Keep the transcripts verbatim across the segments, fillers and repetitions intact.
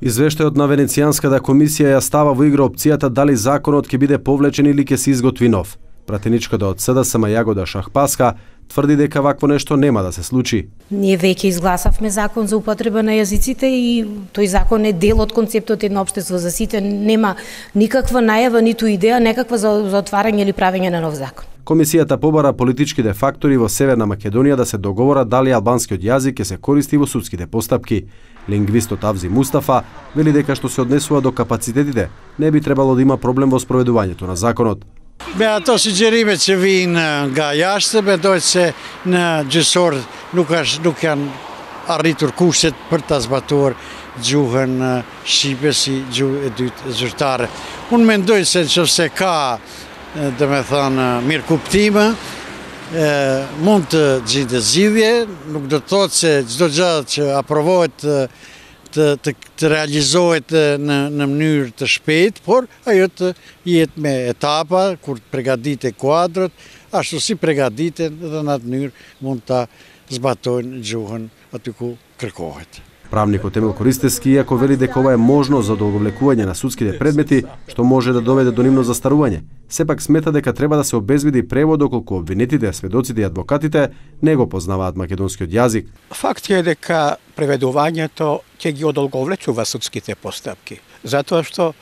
Извештајот на Венецијанската комисија ја става во игра опцијата дали законот ќе биде повлечен или ќе се изготви нов. Пратеничката од СДСМ Јагода Шахпаска тврди дека вакво нешто нема да се случи. Ние веќе изгласавме закон за употреба на јазиците и тој закон е дел од концептот едно општество за сите. Нема никаква најава, ниту идеја некаква за, за отварање или правење на нов закон. Комисијата побара политичките фактори во Северна Македонија да се договорат дали албанскиот јазик ќе се користи во судските постапки. Лингвистот Авзи Мустафа вели дека што се однесува до капацитетите, не би требало да има проблем во спроведувањето на законот. Me ato sugjerime që vijnë nga jashtë, besoj se në gjysor nuk është nuk janë arritur kushtet për ta zbatuar gjuhën shqipe si gjuhë e dytë zyrtare. Unë mendoj se nëse ka, domethënë, mirëkuptime, mund të gjendet zgjidhje, nuk do të thotë se çdo gjë që aprovohet të, të, të realizohet në, në mënyrë të shpejtë, por ajo të jetë me etapa, kur të përgatitet kuadrët, ashtu si përgatiten dhe në atë mënyrë mund ta zbatojnë gjuhën aty ku kërkohet. Правникот Емил Користевски, иако вели дека ова е можно за одолговлекување на судските предмети, што може да доведе до нивно застарување, сепак смета дека треба да се обезбеди превод доколку обвинетите, сведоците и адвокатите не го познаваат македонскиот јазик. Факт е дека преведувањето ќе ги одолговлечува судските постапки, затоа што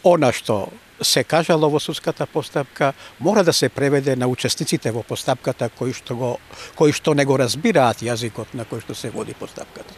она што се кажало во судската постапка мора да се преведе на учесниците во постапката кои што го кои што не го разбираат јазикот на кој што се води постапката.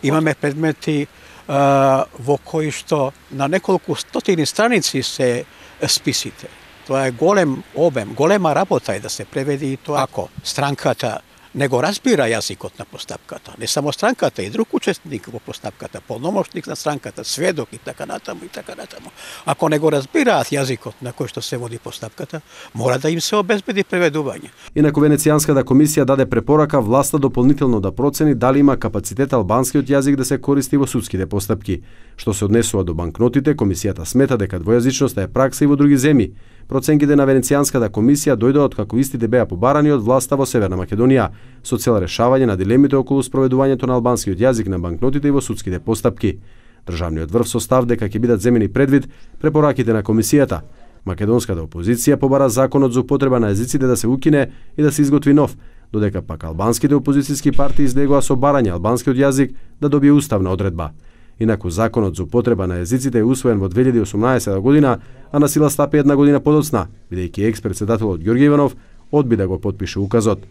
Имаме предмети а, во кои што на неколку стотини страници се списите. Тоа е голем обем, голема работа е да се преведи и тоа. Ако странката не го разбира јазикот на постапката, не само странката, и друг учесник во постапката, полномошник на странката, сведок и така натаму и така натаму. Ако не го разбираат јазикот на кој што се води постапката, мора да им се обезбеди преведување. Инаку Венецијанската комисија даде препорака власта дополнително да процени дали има капацитет албанскиот јазик да се користи во судските постапки. Што се однесува до банкнотите, комисијата смета дека двојазичноста е пракса и во други земји. Проценките на Венецијанската комисија дојдоа од како истите беа побарани од власта во Северна Македонија, со цел решавање на дилемите околу спроведувањето на албанскиот јазик на банкнотите и во судските постапки. Државниот врв со став дека ќе бидат земени предвид препораките на комисијата. Македонската опозиција побара законот за употреба на јазиците да се укине и да се изготви нов, додека пак албанските опозицијски партии излегоа со барање албанскиот јазик да добие уставна одредба. Инаку законот за употреба на јазиците е усвоен во две илјади и осумнаесета година, а на сила стапи една година подоцна, бидејќи екс-председателот Ѓорѓе Иванов одби да го потпише указот.